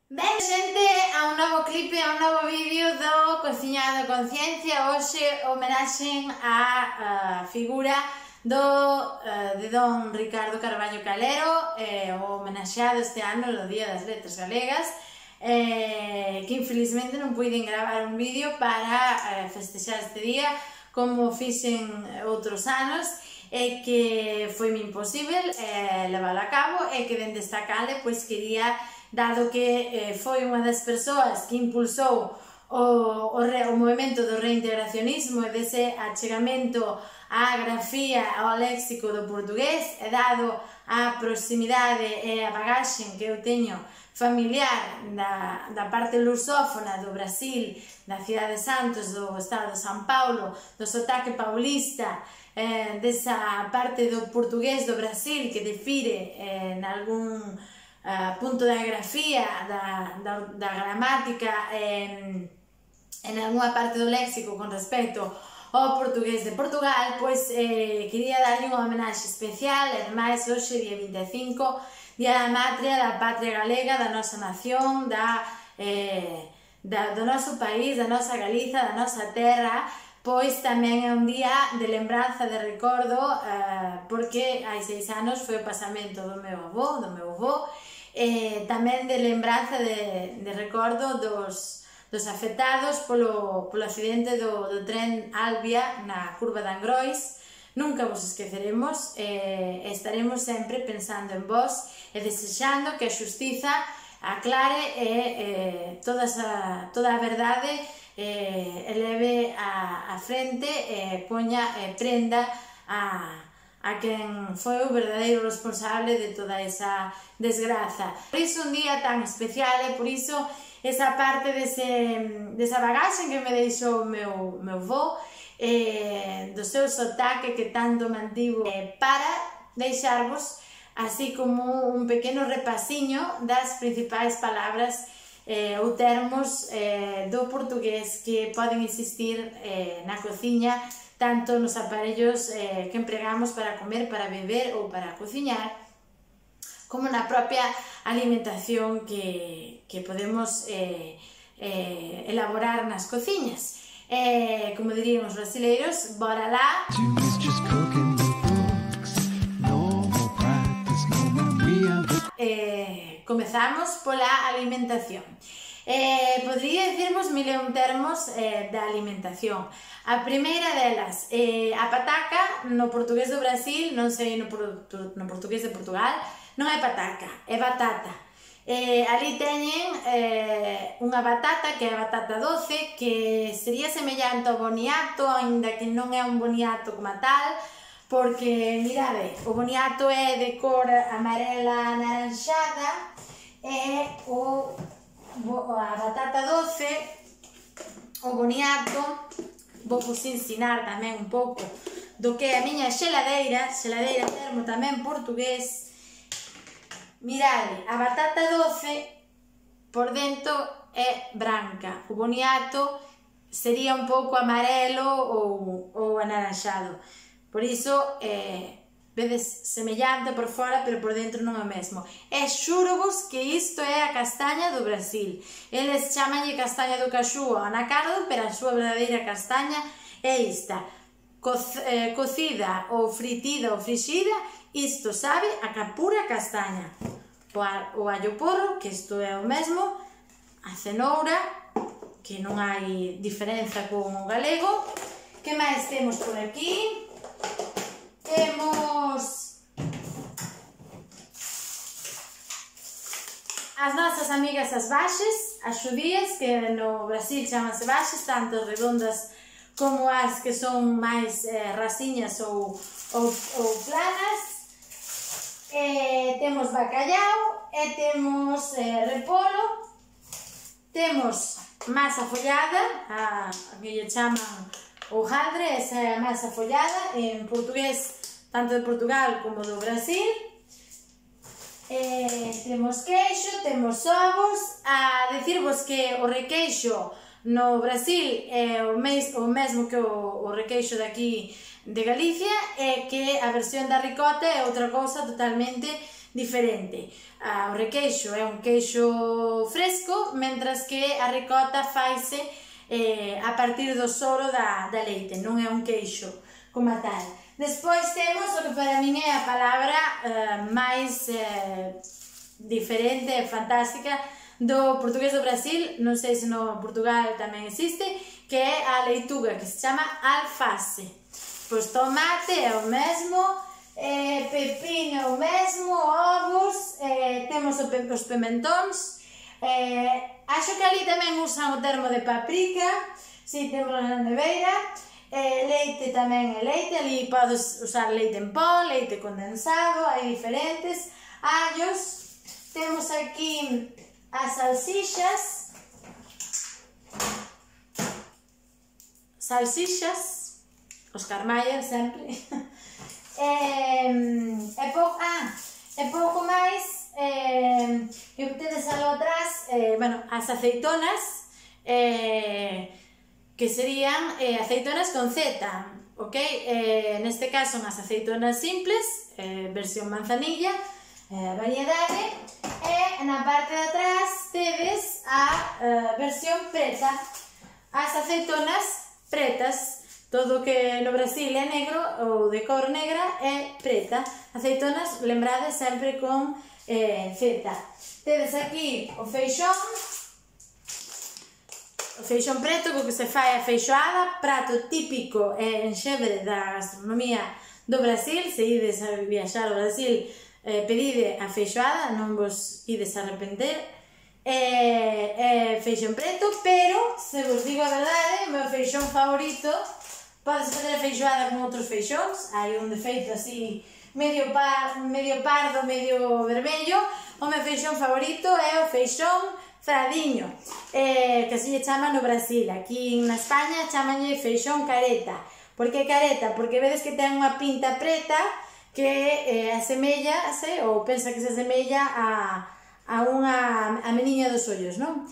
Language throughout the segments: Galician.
Ben, xente, a un novo clipe, a un novo vídeo do Cociñado Conciencia. Hoxe homenaxen a figura de don Ricardo Carballo Calero, o homenaxeado este ano no Día das Letras Galegas, que infelizmente non puiden gravar un vídeo para festexar este día como fixen outros anos, e que foi-me imposible leválo a cabo, e que dende esta cale pois quería, dado que foi unha das persoas que impulsou o movimento do reintegracionismo e dese achegamento á grafía, ao léxico do portugués, e dado a proximidade e a bagaxe que eu teño familiar da parte lusófona do Brasil, da Cidade de Santos, do estado de São Paulo, do sotaque paulista, desa parte do portugués do Brasil que difire en algún punto da grafía, da gramática, en algunha parte do léxico con respecto ao portugués de Portugal, pois quería darlle unha homenaxe especial, e ademais hoxe, día 25, Día da Matria, da Patria Galega, da nosa nación, do noso país, da nosa Galiza, da nosa terra, pois tamén é un día de lembranza, de recordo, porque hai 6 anos foi o pasamento do meu avó, tamén de lembranza, de recordo dos afectados polo accidente do tren Albia na curva de Angrois. Nunca vos esqueceremos, estaremos sempre pensando en vos e desexando que a xustiza aclare e toda a verdade eleve a frente e poña prenda a quen foi o verdadeiro responsable de toda esa desgraza. Por iso un día tan especial, e por iso esa parte desa bagaxe que me deixou o meu avó, do seu sotaque que tanto mantivo, para deixarvos así como un pequeno repasiño das principais palabras ou termos do portugués que poden existir na cociña, tanto nos aparellos que empregamos para comer, para beber ou para cociñar, como na propia alimentación que podemos elaborar nas cociñas. Como dirían os brasileiros, bora lá! Comezamos pola alimentación. Podría dicirmos mil e un termos da alimentación. A primeira delas, a pataca, no portugués do Brasil, non sei no portugués de Portugal, non é pataca, é batata. Ali teñen unha batata que é a batata doce, que sería semellante ao boniato, aínda que non é un boniato como tal, porque, mirade, o boniato é de cor amarela anaranxada, e a batata doce, o boniato, vou vos ensinar tamén un pouco do que é a miña xeladeira termo tamén portugués. Mirade, a batata doce por dentro é branca, o boniato sería un pouco amarelo ou anaranxado, por iso vedes semellante por fora, pero por dentro non é o mesmo. E xúrovos que isto é a castaña do Brasil. Eles chamanlle castaña do caxú ou anacardo, pero a súa verdadeira castaña é esta. Cocida ou fritida ou frixida, isto sabe a pura castaña. O allo porro, que isto é o mesmo, a cenoura, que non hai diferenza con o galego. Que máis temos por aquí? Temos as nosas amigas as baxes, as xudías, que no Brasil chamanse baxes, tanto redondas como as que son máis rasiñas ou planas. Temos bacallau, e temos repolo, temos masa follada, a que lle chaman hojaldre, esa é a masa follada, en portugués tanto de Portugal como do Brasil. Temos queixo, temos ovos. A dicirvos que o requeixo no Brasil é o mesmo que o requeixo daqui de Galicia, e que a versión da ricota é outra cousa totalmente diferente. O requeixo é un queixo fresco, mentras que a ricota faise a partir do soro da leite, non é un queixo como tal. Despois temos o que para min é a palabra máis diferente e fantástica do portugués do Brasil, non sei se no Portugal tamén existe, que é a leituga, que se chama alface. Pois tomate é o mesmo, pepino é o mesmo, ovos, temos os pimentóns, acho que ali tamén usan o termo de paprika, si temos na neveira, leite tamén é leite, ali podes usar leite en pó, leite condensado, hai diferentes, allos, temos aquí as salsixas, os carmallas sempre, e pouco máis, que tedes algo atrás, bueno, as aceitonas, que serían aceitonas con Z, ok? Neste caso son as aceitonas simples, versión manzanilla, variedade, e na parte de atrás tedes a versión preta, as aceitonas pretas, todo que no Brasil é negro ou de cor negra é preta, aceitonas lembrades sempre con Z. Tedes aquí o feixón preto co que se fai a feixoada, prato típico e enxebre da gastronomía do Brasil. Se ides a viaxar ao Brasil, pedide a feixoada, non vos ides a arrepender. Feixón preto, pero, se vos digo a verdade, o meu feixón favorito, podes fazer a feixoada con outros feixóns, hai un defeito así medio pardo, medio vermello. O meu feixón favorito é o feixón fradiño, que se lle chama no Brasil. Aquí na España chamanlle feixón careta. Por que careta? Porque vedes que ten unha pinta preta que asemellase, ou pensa que se asemella a unha meniña dos ollos, non?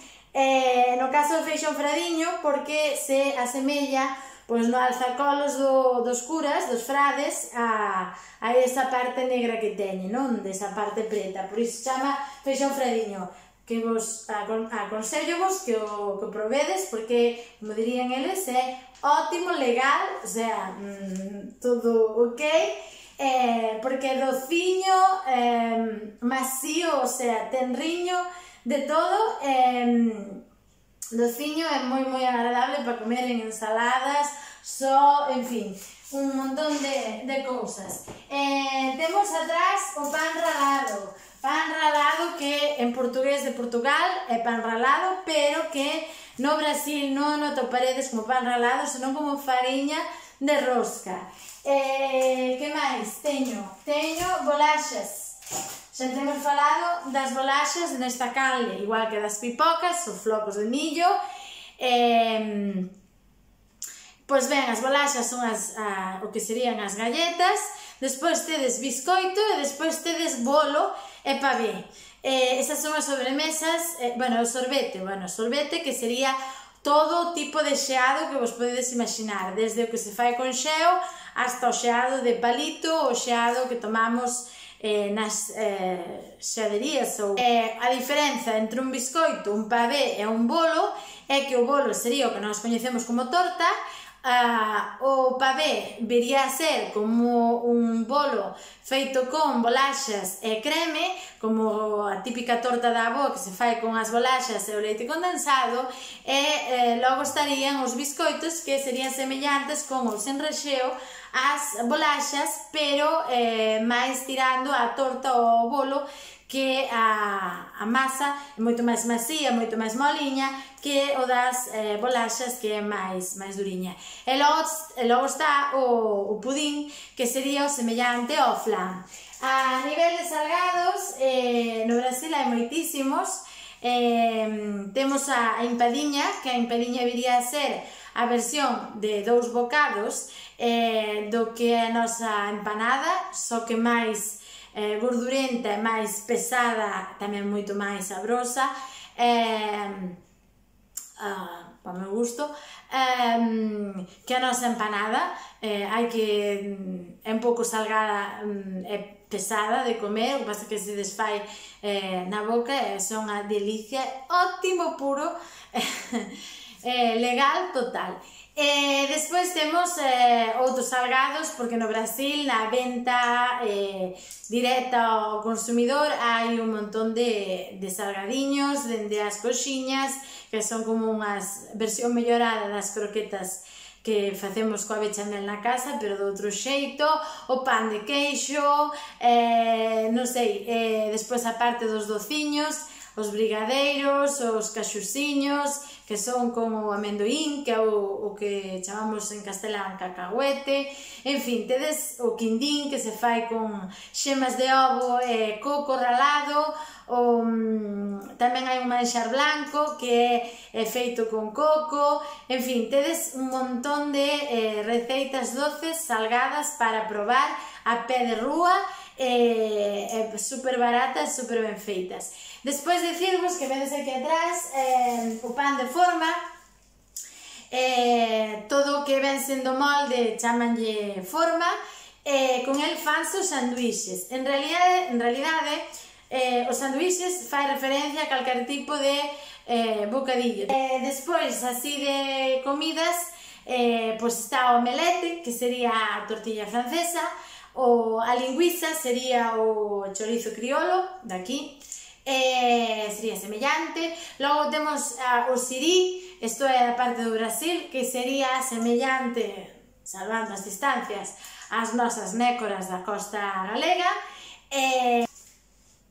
No caso do feixón fradiño, porque se asemella pois no alzacolos dos curas, dos frades, a esa parte negra que teñe, non? Desa parte preta, por iso se chama feixón fradiño, que vos aconsellovos que o probedes, porque, como dirían eles, é ótimo, legal, o sea, todo ok, porque é dociño, macío, o sea, ten riño de todo, dociño é moi agradable para comer en ensaladas, en fin, un montón de cousas. Temos atrás o pan ralado que en portugués de Portugal é pan ralado, pero que no Brasil non o atoparedes como pan ralado, senón como fariña de rosca. Que máis? Teño bolaxas. Xa temos falado das bolaxas nesta canle, igual que das pipocas, ou flocos de millo. Pois ben, as bolaxas son o que serían as galletas, despois tedes biscoito e despois tedes bolo e pavé. Esas son as sobremesas, o sorbete que sería todo tipo de xeado que vos podedes imaginar, desde o que se fai con xeo hasta o xeado de palito, o xeado que tomamos nas xeaderías. A diferenza entre un biscoito, un pavé e un bolo é que o bolo sería o que nós coñecemos como torta, o pavé viría a ser como un bolo feito con bolaxas e creme, como a típica torta da avó que se fai con as bolaxas e o leite condensado, e logo estarían os biscoitos, que serían semellantes con ou sen rexeo as bolaxas, pero máis tirando a torta ou o bolo, que a masa é moito máis macía, moito máis moliña que o das bolaxas, que é máis duriña. E logo está o pudín, que sería o semellante ao flan. A nivel de salgados, no Brasil hai moitísimos. Temos a empadiña, que a empadiña viría a ser a versión de 2 bocados do que é a nosa empanada, só que máis gordurenta e máis pesada, tamén moito máis sabrosa. para o meu gusto, que a nosa empanada, hai que é un pouco salgada e pesada de comer, o que pasa que se desfai na boca e son a delicia, ótimo puro, legal total. Despois temos outros salgados, porque no Brasil na venta directa ao consumidor hai un montón de salgadiños, dende as coxiñas, que son como unha versión mellorada das croquetas que facemos coa bechamel na casa, pero de outro xeito, o pan de queixo, non sei, despois a parte dos dociños, os brigadeiros, os caxusiños, que son como o amendoín, que é o que chamamos en castelán cacahuete, en fin, tedes o quindín, que se fai con xemas de ovo e coco ralado, tamén hai un manxar blanco que é feito con coco, en fin, tedes un montón de receitas doces, salgadas para probar a pé de rúa, super baratas, super ben feitas. Despois dicirvos que vedes aquí atrás o pan de forma, todo o que ven sendo molde chamanlle forma, con el fanse os sanduíxes. En realidade os sanduíxes fai referencia a calquer tipo de bocadillo. Despois, así de comidas, pois está o omelete, que sería a tortilla francesa, a lingüiza sería o chorizo criolo, daqui, sería semellante. Logo temos o sirí, isto é a parte do Brasil, que sería semellante, salvando as distancias, ás nosas nécoras da costa galega.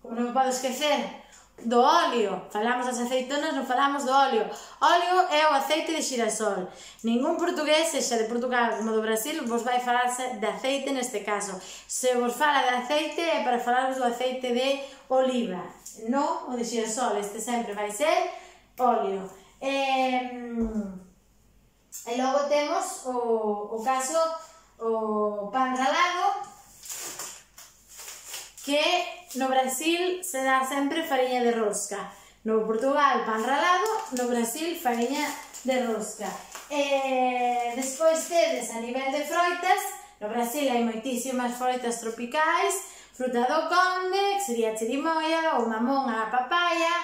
Como non podo esquecer do óleo, falamos das aceitonas, non falamos do óleo. Óleo é o aceite de xirasol. Ningún portugués, sexa de Portugal como do Brasil, vos vai falarse de aceite neste caso. Se vos fala de aceite é para falaros do aceite de oliva, non o de xirasol, este sempre vai ser óleo. E logo temos o caso, o pan ralado, que no Brasil se dá sempre fariña de rosca. No Portugal, pan ralado, no Brasil, fariña de rosca. Despois tedes a nivel de froitas, no Brasil hai moitísimas froitas tropicais, fruta do conde, que sería a chirimoia, o mamón, a papaya,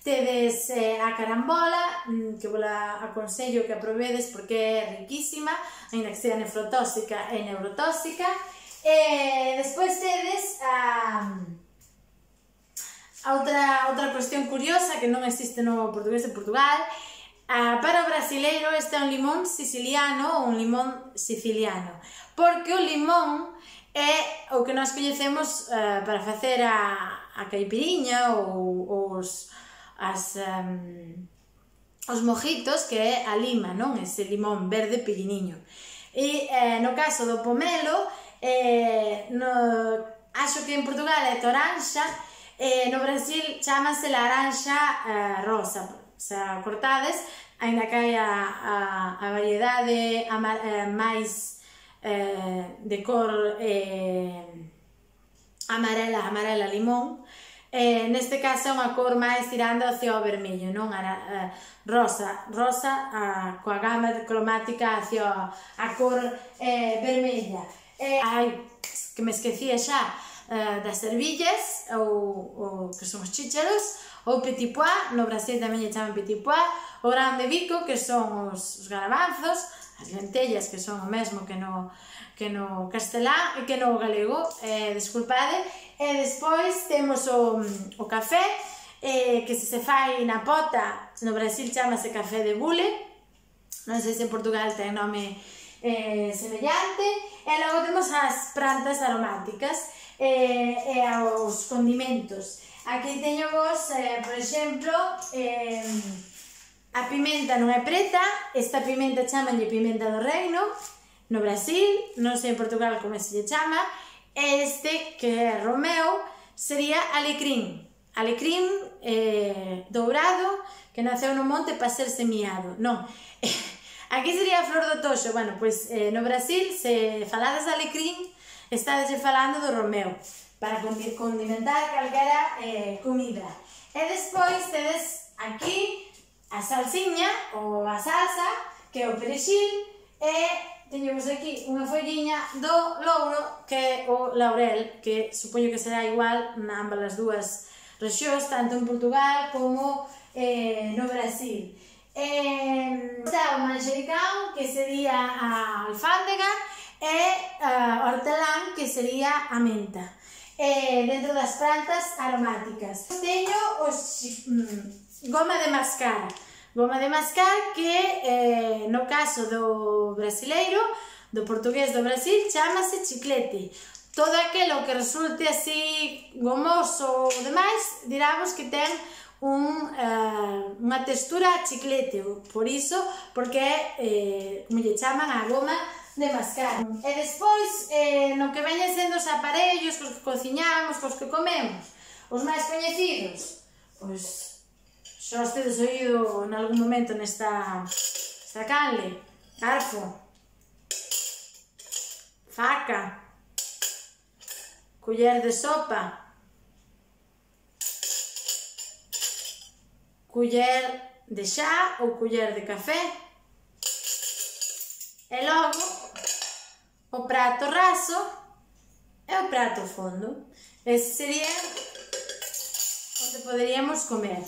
tedes a carambola, que vos aconsello que aprovedes porque é riquísima, ainda que sea nefrotóxica e neurotóxica. Despois tedes outra cuestión curiosa que non existe no portugués de Portugal. Para o brasileiro este é un limón siciliano ou un limón siciliano, porque o limón é o que nós coñecemos para facer a caipiriña ou os mojitos, que é a lima, non? Ese limón verde pequeniño. E no caso do pomelo, acho que en Portugal é toranxa, no Brasil chamase laranxa rosa, o sea, cortades, ainda que hai a variedade máis de cor amarela limón. Neste caso é unha cor máis tirando hacia o vermello, non? Rosa coa gama cromática hacia a cor vermella. Ai, que me esquecía xa das ervillas, ou que son os chícharos, ou petit pois, no Brasil tamén lle chaman petit pois, o grán de bico, que son os garabanzos, as lentellas, que son o mesmo que no castelán e que no galego, desculpade. E despois temos o café, que se fai na pota, no Brasil chamase café de bule, non sei se en Portugal ten nome semellante. E logo temos as plantas aromáticas e os condimentos. Aquí teño vos, por exemplo, a pimenta non é preta, esta pimenta chamanlle pimenta do reino no Brasil, non sei en Portugal como se lle chama. Este, que é romeo, sería alecrín dourado, que naceu no monte para ser semiado, non. Aquí sería a flor do toxo. Bueno, pois no Brasil, se falades de alecrín, estades falando do romeo, para condimentar calquera comida. E despois tedes aquí a salsiña ou a salsa, que é o perexil, e teñemos aquí unha folliña do louro, que é o laurel, que supoño que será igual na ambas as dúas rexións, tanto en Portugal como no Brasil. Está o manxericán, que sería a alfándega, e o hortelán, que sería a menta, dentro das plantas aromáticas. Teño goma de mascar. Goma de mascar que, no caso do brasileiro, do portugués do Brasil, chamase chiclete. Todo aquilo que resulte así gomoso ou demais, diramos que ten unha textura a chiclete, por iso, porque é, como lle chaman, a goma de mascar. E despois, no que veñen sendo os aparellos cos que cociñamos, cos que comemos, os máis coñecidos, pois xa os tedes oído en algún momento nesta canle: garfo, faca, culler de sopa, culler de xá ou culler de café, e logo o prato raso e o prato fondo. Ese sería onde poderíamos comer.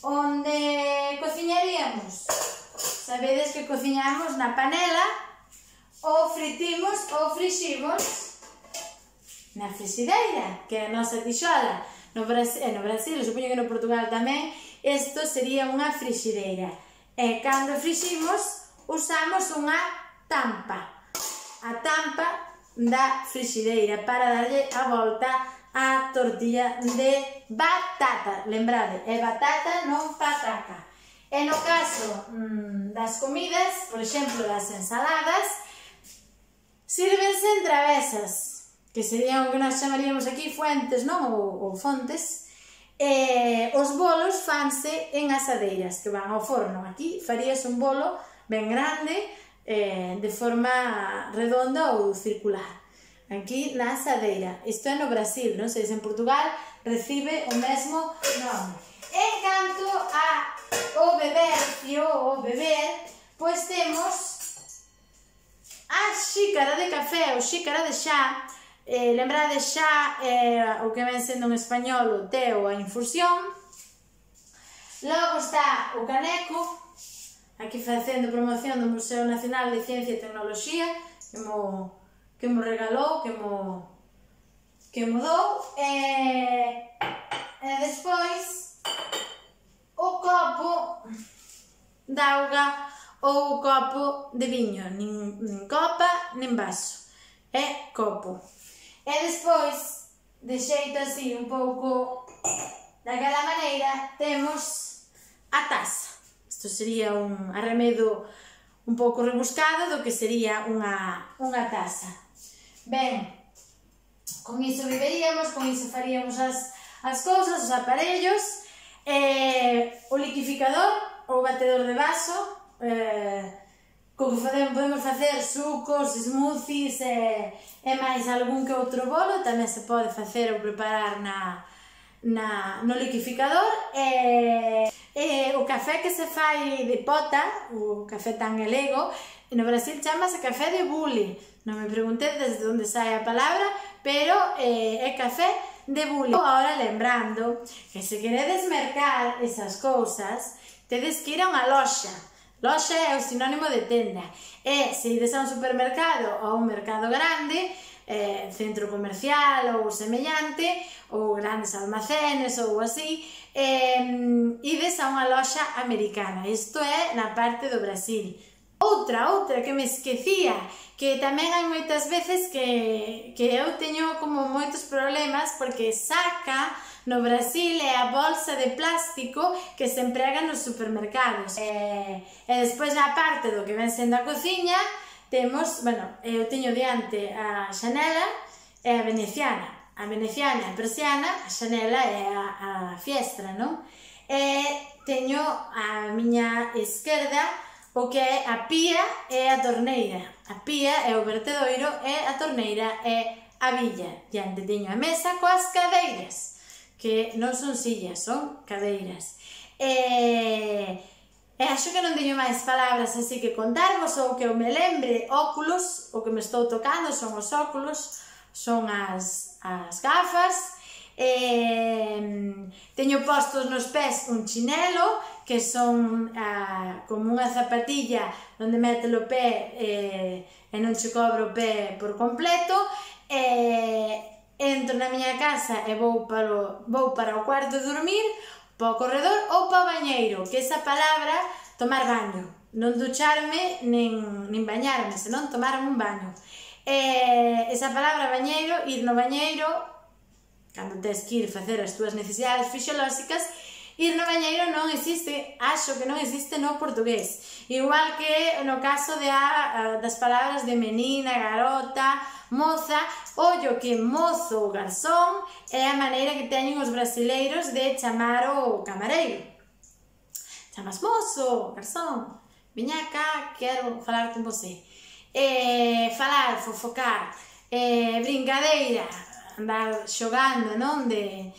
Onde cociñaríamos? Sabedes que cociñamos na panela, ou fritimos ou friximos na frixideira, que é a nosa tixola. No Brasil, supoño que no Portugal tamén, isto sería unha frixideira. E cando friximos, usamos unha tampa. A tampa da frixideira para darlle a volta a tortilla de batata. Lembrade, é batata, non pataca. E no caso das comidas, por exemplo, das ensaladas, sírvense en travesas, que serían o que nós chamaríamos aquí fuentes, non? Ou fontes. Os bolos fanse en asadeiras, que van ao forno. Aquí farías un bolo ben grande, de forma redonda ou circular. Aquí na asadeira. Isto é no Brasil, non sei se en Portugal recibe o mesmo nome. En canto ao bebercio, ou beber, pois temos a xícara de café ou xícara de xá. Lembrade, xa o que ven sendo en español o té ou a infusión. Logo está o caneco, aquí facendo promoción do Museo Nacional de Ciencia e Tecnoloxía, que mo regalou, que mo dou, e despois o copo de auga ou o copo de viño, nin copa nin vaso, é copo. E despois, de xeito así un pouco daquela maneira, temos a taza. Isto sería un arremedo un pouco rebuscado do que sería unha taza. Ben, con iso viveríamos, con iso faríamos as cousas, os aparellos, o liquificador ou batedor de vaso, co que podemos facer sucos, smoothies e máis algún que outro bolo. Tamén se pode facer ou preparar no liquificador. O café que se fai de pota, o café tan galego, no Brasil chamase café de bule. Non me preguntedes de onde sai a palabra, pero é café de bule. Agora lembrando que se queredes mercar esas cousas, tedes que ir a unha loxa. Loxa é o sinónimo de tenda. E se ides a un supermercado ou a un mercado grande, centro comercial ou semellante, ou grandes almacenes ou así, ides a unha loxa americana. Isto é na parte do Brasil. Outra que me esquecía, que tamén hai moitas veces que eu teño como moitos problemas, porque saca no Brasil é a bolsa de plástico que se emprega nos supermercados. E despois na parte do que ven sendo a cociña, temos, eu teño diante a xanela e a veneciana. A veneciana é a persiana, a xanela é a fiestra, non? E teño a miña esquerda o que é a pía e a torneira. A pía é o vertedoiro e a torneira é a billa. Diante teño a mesa coas cadeiras, que non son sillas, son cadeiras. E acho que non teño máis palabras así que contarvos, ou que eu me lembre. Óculos, o que me estou tocando son os óculos, son as gafas. Teño postos nos pés un chinelo, que son como unha zapatilla onde mete o pé e non che cobro o pé por completo. Entro na miña casa e vou para o cuarto de dormir, para o corredor ou para o bañeiro, que esa palabra, tomar baño, non ducharme nin bañarme, senón tomarme un baño. Esa palabra bañeiro, ir no bañeiro, cando tes que ir facer as túas necesidades fisiolóxicas, ir no bañeiro non existe, acho que non existe no portugués. Igual que no caso das palabras de menina, garota, moza, ollo que mozo ou garzón é a maneira que teñen os brasileiros de chamar o camareiro. Chamas mozo, garzón, viña cá, quero falar con você. Falar, fofocar, brincadeira, andar xogando, non? De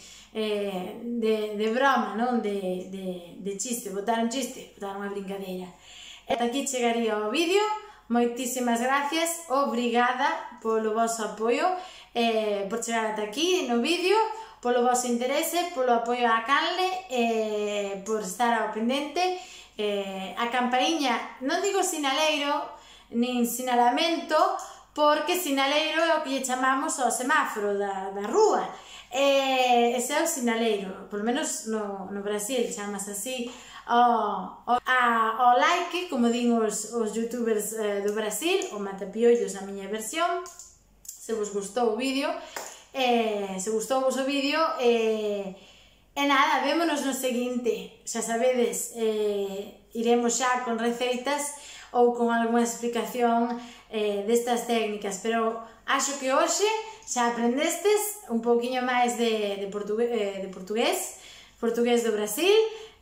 broma, non? De chiste, botar un chiste, botar unha brincadeira. E ata aquí chegaría o vídeo. Moitísimas gracias, obrigada polo vosso apoio, por chegar ata aquí no vídeo, polo vosso interese, polo apoio á canle, por estar ao pendente. A campaíña, non digo sinaleiro, nin sinalamento, porque sinaleiro é o que lle chamamos ao semáforo da rúa. Ese é o sinaleiro, polo menos no Brasil chamas así ao like, como din os youtubers do Brasil, o matapiollos a miña versión. Se vos gustou o vídeo, se gustou vos o vídeo, e nada, vémonos no seguinte. Xa sabedes, iremos xa con receitas ou con algunha explicación destas técnicas, pero acho que hoxe xa aprendestes un pouquiño máis de portugués do Brasil.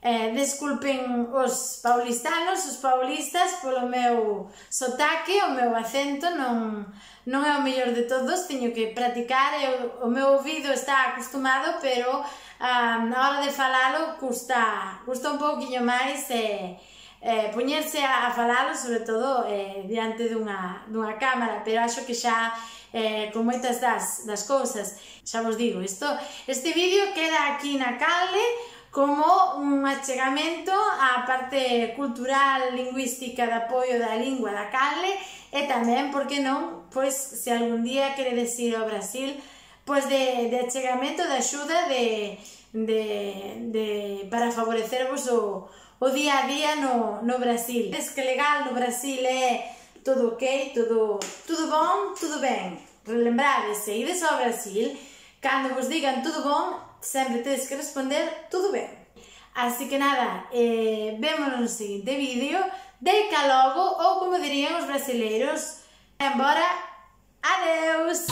Desculpen os paulistas polo meu sotaque, o meu acento non é o mellor de todos, teño que practicar, o meu ouvido está acostumado, pero na hora de falalo custa un pouquiño máis poñerse a falalo, sobre todo diante dunha cámara, pero acho que xa con moitas das cousas, xa vos digo, este vídeo queda aquí na canle como un achegamento á parte cultural, lingüística de apoio da lingua da canle, e tamén, por que non, pois, se algún día queredes ir ao Brasil, pois de achegamento, de axuda, para favorecervos o día a día no Brasil. Es que legal no Brasil é todo ok, todo bon, todo ben. Relembrades, se ides ao Brasil, cando vos digan todo bon, sempre tedes que responder todo ben. Así que nada, vémonos no seguinte vídeo. Deica logo, ou como dirían os brasileiros, embora, adeus!